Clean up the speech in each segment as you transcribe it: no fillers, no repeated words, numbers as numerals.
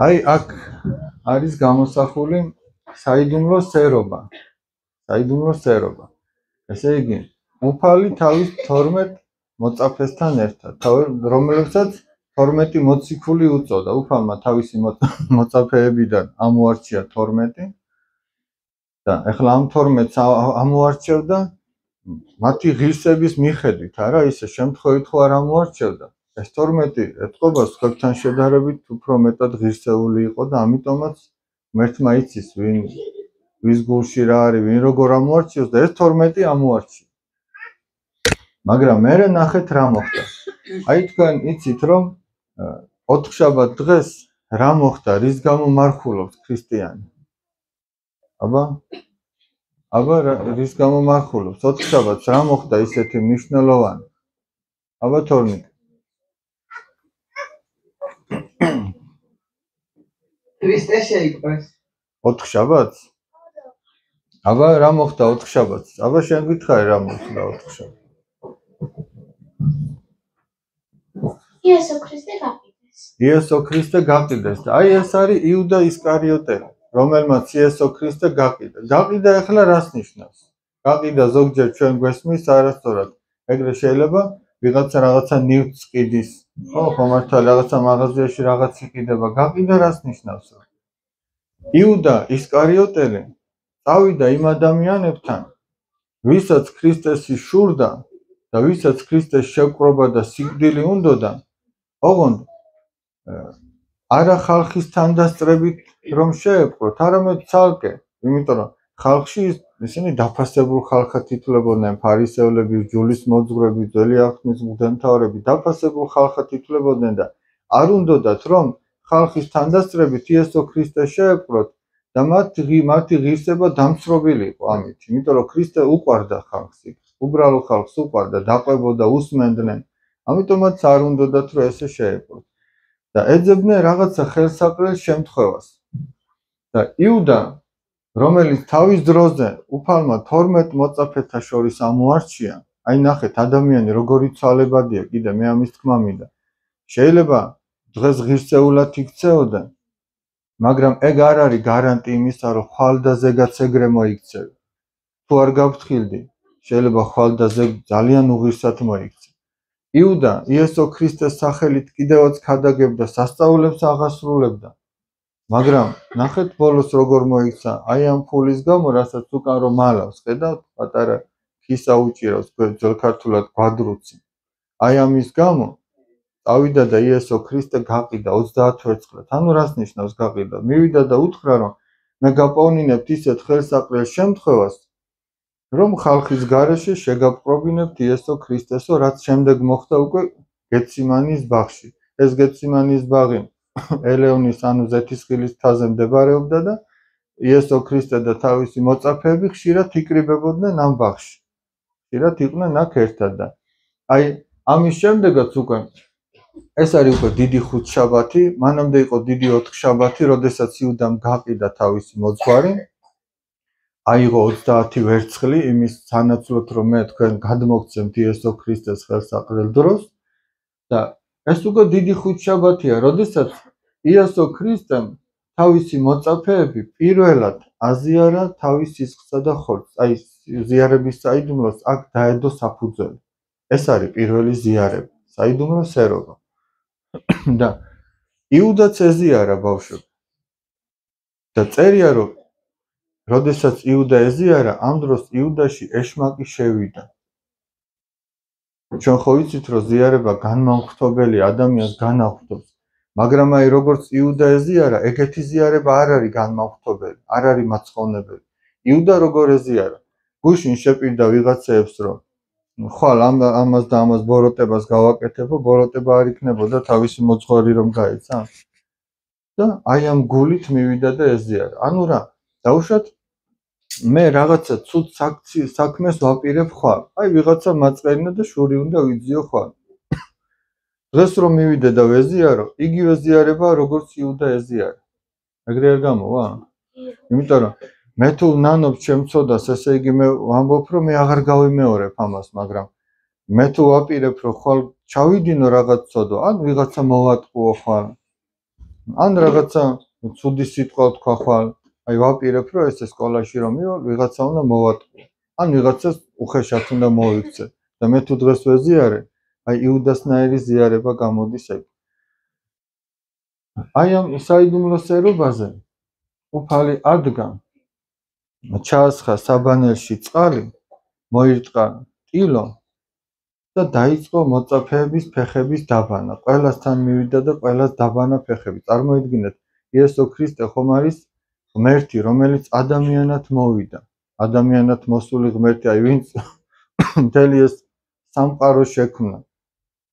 აი აქ არის გამოსახული საიდუმლო სერობა. ესე იგი, უფალი თავის 12 მოწაფესთან ერთად, რომლებსაც 12 მოციქული უწოდა. უფალმა თავისი მოწაფეებიდან ამოარჩია 12 და ეხლა ამ 12-ს ამოარჩევდა მათი ღირსების მიხედვით, არა ისე შემთხვევით ხო არ ამოარჩევდა. ეს 12 ეთყობა სხვებთან შედარებით უფრო მეტად ღირსეული იყო და ამიტომაც მერთმა იცის ვის გულში რა არის, ვინ როგორ ამოარჩიოს და ეს 12 ამოარჩია. მაგრამ მერე ნახეთ რა მოხდა. აი თქვენ იცით რომ 4 შაბათ დღეს რა მოხდა, რის გამო მარხულობს ქრისტიანი? აბა რის გამო მარხულობს? 4 შაბათს რა მოხდა ისეთი მნიშვნელოვანი? აბა თორნიკ. ქრისტე შეიყვეს. 4 შაბათს? აბა რა მოხდა 4 შაბათს? აბა შენ გითხარი რა მოხდა 4 შაბათს? იესო ქრისტე გაყიდეს და აი ეს არის იუდა ისკარიოტელი, რომელმაც იესო ქრისტე გაყიდა. გაყიდა ახლა რას ნიშნავს? გაყიდა ზოგჯერ ჩვენ გვესმის არასწორად. ეგრე შეიძლება ვიღაცა რაღაცა ნივთს ყიდის. ხო მართალია რაღაცა მაღაზიაში რაღაც იყიდება. გაყიდა რას ნიშნავს? იუდა ისკარიოტელი წავიდა იმ ადამიანებთან, ვისაც ქრისტეს იშურდა და ვისაც ქრისტეს შევკრობა და სიკვდილი უნდოდა, ოღონდ არა ხალხის თანდასწრებით რომ შეეპყროთ, არამედ ცალკე, იმიტომ რომ ხალხში ისინი დაფასებულ ხალხად ითვლებოდნენ, ფარისევლები, ჯულის მოძღვრები, ძველი აღთქმის მღვდელმთავრები დაფასებულ ხალხად ითვლებოდნენ და არ უნდოდათ რომ ხალხის თანდასწრებით იესო ქრისტეს შეეპყროთ და მათი ღირსება დამცრობილიყო ამით, იმიტომ რომ ქრისტე უყვარდა ხალხს, უბრალო ხალხს უყვარდა, დაყვებოდა, უსმენდნენ, ამიტომაც არ უნდოდათ რომ ესე შეეპყროთ. და ეძებდნენ რაღაცა ხელსაყრელ შემთხვევას. და იუდა, რომელიც თავის დროზე უფალმა 12 მოწაფეთა შორის ამოარჩია, აი ნახეთ ადამიანი როგორი ცვალებადია, კიდე მე ამის თქმა მინდა. შეიძლება დღეს ღირსეულად იქცეოდა, მაგრამ ეგ არ არის გარანტი იმისა, რომ ხვალ და ზეგაც ეგრე მოიქცევი. თუ არ გავფრთხილდი, შეიძლება ხვალ და ზეგ ძალიან უღირსად მოიქცე. იუდა იესო ქრისტეს სახელით კიდევაც ქადაგებდა, სასწაულებს აღასრულებდა. მაგრამ ნახეთ ბოლოს როგორ მოიქცა, აი ამ ფულის გამო, რასაც უკან რომ მალავს, ხედავთ, პატარა ქისა უჭირავს, ძველ ქართულად გვადრუცი. აი ამის გამო წავიდა და იესო ქრისტე გაყიდა 30 ვერცხლად. ანუ რას ნიშნავს გაყიდა? მივიდა და უთხრა რომ მე გაპოვნინებთ ისეთ ხელსაყრელ შემთხვევას, რომ ხალხის გარეშე შეგაპყრობინებთ იესო ქრისტესო, რაც შემდეგ მოხდა უკვე გეციმანის ბაღში. ეს გეციმანის ბაღი ელეონის ანუ ზეთისხილის მთაზე მდებარეობდა და იესო ქრისტე და თავისი მოწაფეები ხშირად იკრიბებოდნენ ამ ბაღში. ხშირად იყვნენ აქ ერთად და აი ამის შემდეგაც უკვე ეს არის უკვე დიდი ხუთშაბათი, მანამდე იყო დიდი 4 შაბათი, როდესაც იუდამ გაყიდა თავისი მოძღვარი. აიღო 30 ვერცხლი იმის სანაცვლოდ რომ მე თქვენ გადმოგცემთ იესო ქრისტეს ხელსაყრელ დროს და ეს უკვე დიდი ხუთშაბათია, როდესაც იესო ქრისტემ თავისი მოწაფეები პირველად აზიარა თავის სისხლსა და ხორცს. აი ზიარების საიდუმლოს აქ დაედო საფუძველი. ეს არის პირველი ზიარება, საიდუმლო სერობა. და იუდაც ეზიარა ბავშვები. და წერია რომ როდესაც იუდა ეზიარა, ამ დროს იუდაში ეშმაკი შევიდა. ჩვენ ხო ვიცით რომ ზიარება განმაუხტებელი ადამიანს განაუხტობს, მაგრამ აი როგორც იუდა ეზიარა, ეგეთი ზიარება არ არის განმაუხტებელი, არ არის მაცხოვნებელი. იუდა როგორ ეზიარა? გუშინ შეპირდა ვიღაცეებს რომ ხვალ ამას და ამას ბოროტებას გავაკეთებო, ბოროტება არ იქნებოდა თავისი მოძღვარი რომ გაეცა. და აი ამ გულით მივიდა და ეზიარა. ანუ რა, დაუშვათ მე რაღაცა ცუდ საქმეს ვაპირებ ხვალ. აი ვიღაცა მაწყერინა და შური უნდა ვიძიო ხვალ. დღეს რომ მივიდე და ვეზიარო, იგივე ზიარება როგორც იუდა ეზიარა. ეგრე არ გამოვა? იმიტომ რომ მე თუ ნანობ ჩემწოდას, ესე იგი მე ვამბობ რომ მე აღარ გავიმეორებ ამას, მაგრამ მე თუ ვაპირებ რომ ხვალ ჩავიდინო რაღაც ცოდვა, ან ვიღაცა მოვატყუო ხვალ. ან რაღაცა ცუდი სიტყვა თქვა ხვალ, აი ვაპირებ რომ ეს სკოლაში რომ მივალ, ვიღაცა უნდა მოვატყუო. ან ვიღაცას უხეშად უნდა მოიქცე და მე თუ დღეს ვეზიარე, აი იუდასნაირი ზიარება გამოდის ეგ. აი ამ საიდუმლოსერობაზე უფალი ადგა ჩაასხა საბანელში წყალი, მოირტყა ტილო და დაიწყო მოწაფეების ფეხების დაბანა. ყველასთან მივიდა და ყველას დაბანა ფეხები. წარმოიდგინეთ, იესო ქრისტე ხომ არის ღმერთი, რომელიც ადამიანად მოვიდა. ადამიანად მოსული ღმერთი, აი ვინც მთელი ეს სამყარო შექმნა.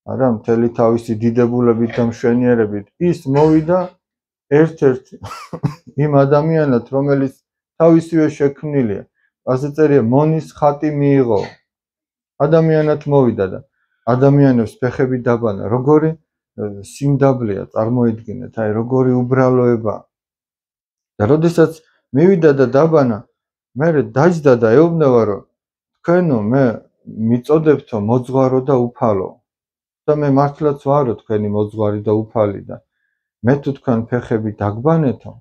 არა, მთელი თავისი დიდებულებით და მშვენიერებით ის მოვიდა ერთ-ერთ იმ ადამიანად, რომელიც თავისივე შექმნილია. ასე წერია, მონის ხატი მიიღო. ადამიანად მოვიდა და ადამიანებს ფეხები დაბანა. როგორი სიმდაბლეა, წარმოიდგინეთ, აი როგორი უბრალოება. და როდესაც მივიდა და დაბანა, მე დაჯდა და ეუბნება, რომ თქვენო მე მიწოდებთო მოძღვარო და უფალო. და მე მართლაც ვარო თქვენი მოძღვარი და უფალი და მე თუ თქვენ ფეხები დაგბანეთო,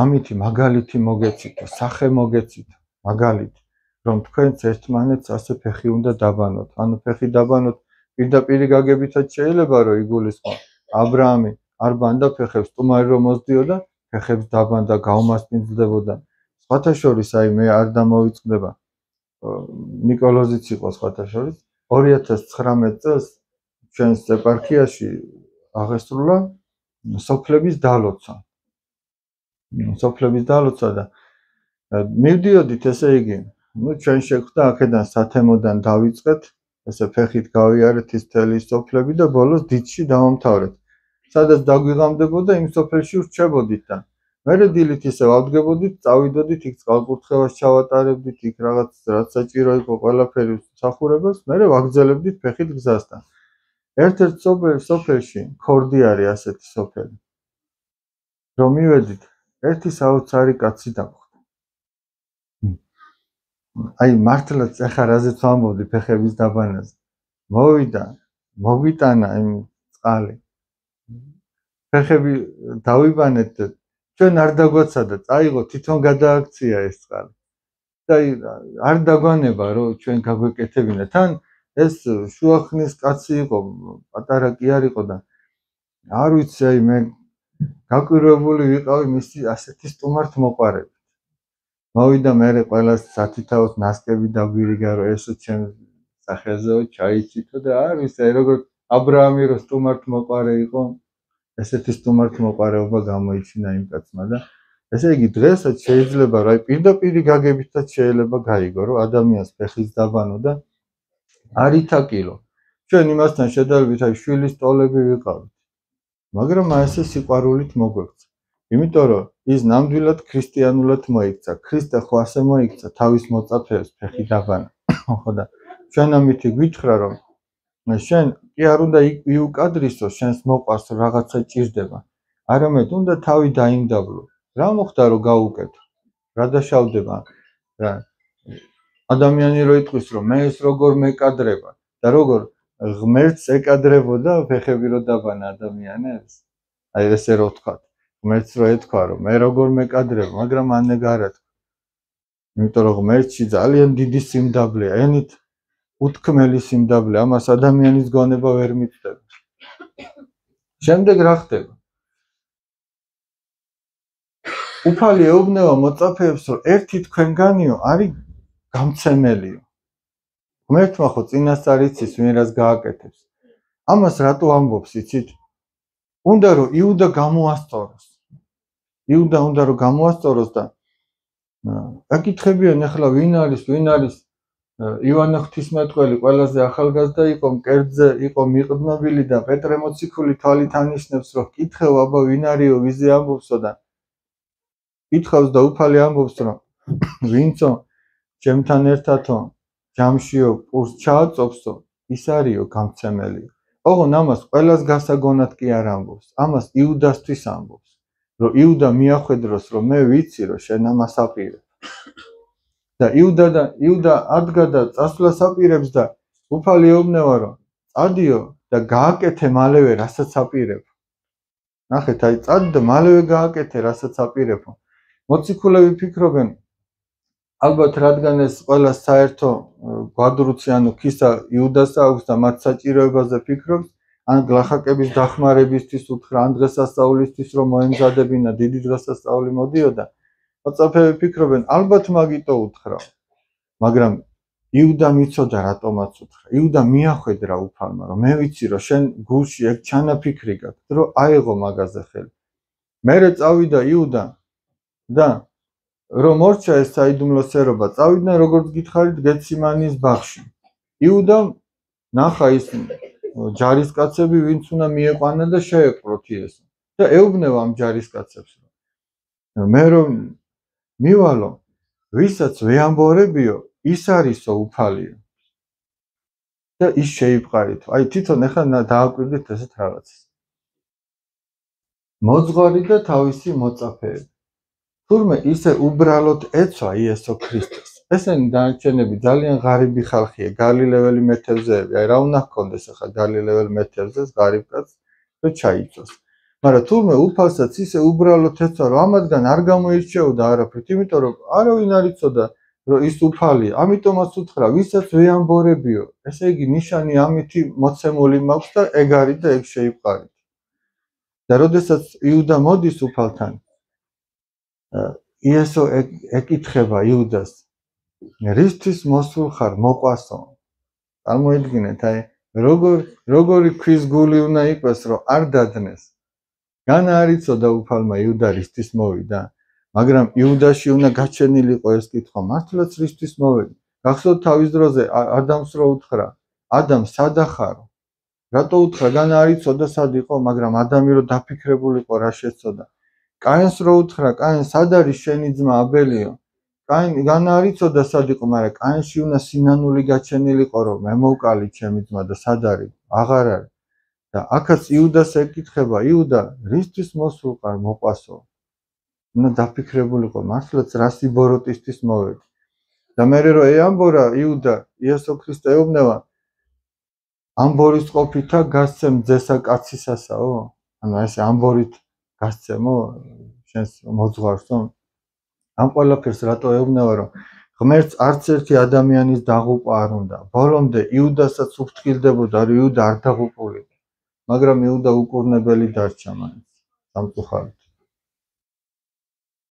ამითი მაგალითი მოგეცითო, სახე მოგეცითო, მაგალითი, რომ თქვენც ერთმანეთს ასე ფეხი უნდა დაბანოთ. ანუ ფეხი დაბანოთ პირდაპირი გაგებითაც შეიძლება რომ იგულისხმო. აბრაამი არ ბანდა ფეხებს, სტუმარი რომ მოსდიოდა, ფეხებს დაბანდა, გაუმასპინძლებოდა. სხვათა შორის აი მე არ დამოვიწყდება. ნიკოლოზიც იყო სხვათა შორის 2019 წელს ჩვენს ეპარქიაში აღესრულა სოფლების დალოცვა. სოფლების დალოცვა და მივდიოდით, ესე იგი, ჩვენ შეხვდა აქედან სათემოდან დავიწყეთ, ესე ფეხით გავიარეთ ის მთელი სოფლები და ბოლოს დიცში დავამთავრეთ. სადაც დაგვიღამდებოდა, იმ სოფელში ვრჩებოდით და მერე დილით ისე ვავდგებოდით, წავიდოდით იქ წყალკურთხევას ჩავატარებდით, იქ რაღაც საჭირო იყო ყველაფერი მსახურებას, მერე ვაგრძელებდით ფეხით გზასთან. ერთ-ერთ სოფელში ქორდი არის ასეთი სოფელი. რომ მივედით, ერთი საოცარი კაცი დავხვდა. აი მართლაც ახლა რაზეც ვამბობდი ფეხების დაბანაზე. მოვიდა, მოგვიტანა იმ წყალი. ფეხები დავიბანეთ და ჩვენ არ დაგვაცადა, წაიღო თვითონ გადააქცია ეს წყალი. და არ დაგვანება რომ ჩვენ გაგვეკეთებინა. თან ეს შუახნის კაცი იყო, პატარა კი არ იყო და არ ვიცი, აი მე გაკვირვებული ვიყავი მისი ასეთი სტუმართ მოყარებით. მოვიდა მერე ყველას სათითაოდ ნასკები დაგვირიგა, რომ ესო ჩემ სახელზეო ჩაიცითო და არ ვიცი, აი როგორ აბრაამი რო სტუმართ მოყარე იყო, ესეთი სტუმართ მოყარეობა გამოიჩინა იმ კაცმა და ესე იგი დღესაც შეიძლება რომ აი პირდაპირი გაგებითაც შეიძლება გაიგო, რომ ადამიანს ფეხის დაბანო და არ ითაკილო. ჩვენ იმასთან შედარებით აი შვილის ტოლები ვიყავით. მაგრამ ასე სიყვარულით მოგვექცა. იმიტომ რომ ის ნამდვილად ქრისტიანულად მოიქცა. ქრისტე ხო ასე მოიქცა თავის მოწაფეებს ფეხი დაბანა. ხო და ჩვენ ამითი გვითხრა რომ შენ კი არ უნდა იუკადრისო, შენს მოყვარს რაღაცა ჭირდება. არამედ უნდა თავი დაიმდაბლო. რა მოხდა რომ გაუკეთო? რა დაშავდება? რა ადამიანი რო იტყვის რომ მე ეს როგორ მეკადრება და როგორ ღმერთს ეკადრებოდა ფეხები რო დაბანა ადამიანებს. აი ესე რო თქვა. ღმერთს რო ეთქვა რომ მე როგორ მეკადრებ, მაგრამ ანეგარა თქვა. იმიტომ რომ ღმერთში ძალიან დიდი სიმდაბლეა, ენით უთქმელი სიმდაბლე, ამას ადამიანის გონება ვერ მიწდება. შემდეგ რა ხდება? უფალი ეუბნება მოწაფეებს, რომ ერთი თქვენგანიო არის გამცემელიო. ღმერთმა ხო წინასწარ იცის, ვინ რას გააკეთებს. ამას რატო ამბობს, იცით? უნდა რომ იუდა გამოასწოროს. იუდა უნდა რომ გამოასწოროს და აკითხებიან ახლა ვინ არის ივანე ღვთისმეტყველი ყველაზე ახალგაზრდა იყო, მკერდზე იყო მიყდნობილი და პეტრე მოციქული თვალით ანიშნებს, რომ კითხევ აბა ვინ არისო, ვიზე ამბობსო და კითხავს და უფალი ამბობს, რომ ვინცო ჩემთან ერთადო ჯამშიო პურს ჩააწოფსო, ის არისო გამცემელიო. ოღონ ამას ყველას გასაგონად კი არ ამბობს, ამას იუდასთვის ამბობს, რომ იუდა მიახვედროს, რომ მე ვიცი, რომ შენ ამას აპირებ. და იუდა ადგა და წასვლას აპირებს და უფალი ეუბნება, რომ წადიო და გააკეთე მალევე, რასაც აპირებ. ნახეთ, აი წადი და მალევე გააკეთე, რასაც აპირებო. მოციქულები ფიქრობენ, ალბათ რადგან ეს ყველა საერთო გვადრუცი ანუ ქისა იუდასა აქვს და მათ საჭიროებაზე ფიქრობს, ან გლახაკების დახმარებისთვის უთხრა, ან დღესასწაულისთვის რომ მოემზადებინა, დიდი დღესასწაული მოდიოდა. მოწაფეები ფიქრობენ, ალბათ მაგიტო უთხრა. მაგრამ იუდა მიცოდა რატომაც უთხრა. იუდა მიახვედრა უფალმა, რომ მე ვიცი, რომ შენ გულში ეგ ჩანაფიქრი გაქვს, რომ აეღო მაგაზე ხელი. მერე წავიდა იუდა და რომ მორჩა ეს საიდუმლო სერობა, წავიდნენ როგორც გითხარით გეციმანის ბაღში. იუდა ნახა ის ჯარისკაცები, ვინც უნდა მieყვანა და შეეყროთ იესო. და ეუბნება ამ ჯარისკაცებს, რომ მე რომ მივალო, ვისაც ვეამბორებიო, ის არისო უფალიო. და ის შეიპყარითო. აი თვითონ ახლა დააკვირდით ესეთ რაღაცას. მოძღვარი და თავისი მოწაფეები. თურმე ისე უბრალოდ ეცვა იესო ქრისტეს. ესენი დანარჩენები ძალიან ღარიბი ხალხია, გალილეველი მეთევზეები. აი რა უნდა ჰქონდეს ახლა გალილეველ მეთევზეს ღარიბ კაცს, რომ ჩაიწვას. მაგრამ თურმე უფალსაც ისე უბრალოდ ეცვა, რომ ამათგან არ გამოირჩეოდა არაფრით, იმიტომ რომ არავინ არ იცოდა, რომ ის უფალია. ამიტომაც უთხრა, ვისაც ვეამბორებიო. ესე იგი ნიშანი ამითი მოცემული მაქვს და ეგ არის და ეგ შეიპყარით. და როდესაც იუდა მოდის უფალთან, იესო ეკითხება იუდას, რისთვის მოსულ ხარ მოყვასო? წარმოიდგინეთ, აი როგორი ქვის გული უნდა იყოს, რომ არ დადნეს. განა არ იცოდა უფალმა იუდა რისთვის მოვიდა, მაგრამ იუდაში უნდა გაჩენილიყო ეს კითხვა, მართლაც რისთვის მოვედი? გახსოვთ თავის დროზე ადამს რო უთხრა, ადამ სადა ხარო? რატო უთხრა, განა არ იცოდა სად იყო, მაგრამ ადამი რო დაფიქრებულიყო რა შეცოდა. კაინს რო უთხრა, კაინ სად არის შენი ძმა აბელიო? კაინ განა არ იცოდა სად იყო, მაგრამ კაინში უნდა სინანული გაჩენილიყო, რომ მე მოვკალი ჩემი ძმა და სად არის? აღარ არის. და აქაც იუდას ეკითხება, იუდა, რისთვის მოსულყარ მოყვასო? უნდა დაფიქრებულიყო, მართლაც რა სიბოროტისთვის მოვედი. და მერე რო ეამბორა იუდა, იესო ქრისტე ეუბნება, ამბორის ყოფითა გასცემ ძესა კაცისასაო? ანუ ეს ამბორით გასცემო შენს მოძღვარსო? ამ ყველაფერს რატო ეუბნება, რომ ღმერთს არც ერთი ადამიანის დაღუპვა არ უნდა. ბოლომდე იუდასაც უფრთხილდებოდა, რომ იუდა არ დაღუპულიყო. მაგრამ იუდა უკურნებელი დარჩა მაინც სამწუხაროდ.